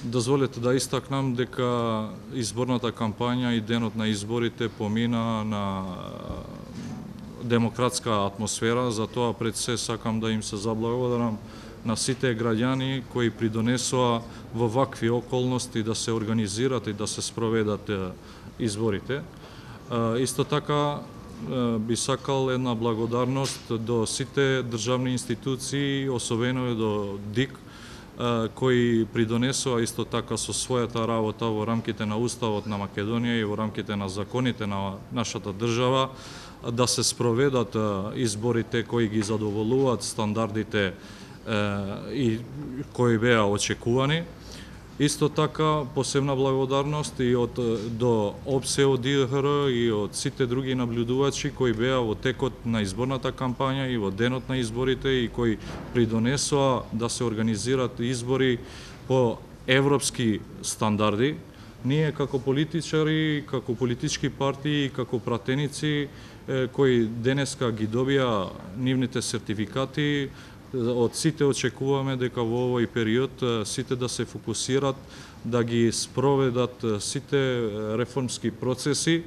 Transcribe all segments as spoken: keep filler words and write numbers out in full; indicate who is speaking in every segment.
Speaker 1: Дозволете да истакнам дека изборната кампања и денот на изборите помина на демократска атмосфера, затоа пред се сакам да им се заблагодарам на сите граѓани кои придонесоа во вакви околности да се организират и да се спроведат изборите. Исто така би сакал една благодарност до сите државни институции, особено до ДИК, кои придонесоа исто така со својата работа во рамките на Уставот на Македонија и во рамките на законите на нашата држава да се спроведат изборите кои ги задоволуваат стандардите и кои беа очекувани. Исто така посебна благодарност и од до ОПСЕ од ДИХР и од сите други наблюдувачи кои беа во текот на изборната кампања и во денот на изборите и кои придонесоа да се организират избори по европски стандарди. Ние како политичари, како политички партии и како пратеници кои денеска ги добија нивните сертификати, од сите очекуваме дека во овој период сите да се фокусират да ги спроведат сите реформски процеси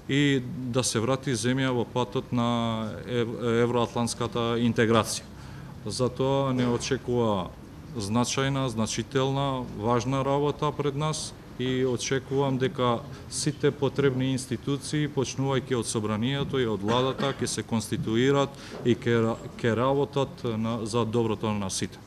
Speaker 1: и да се врати земја во патот на евроатлантската интеграција. Затоа не очекува значајна, значителна, важна работа пред нас и очекувам дека сите потребни институции, почнувајќи од собранието и од владата, ќе се конституират и ќе работат за доброто на сите.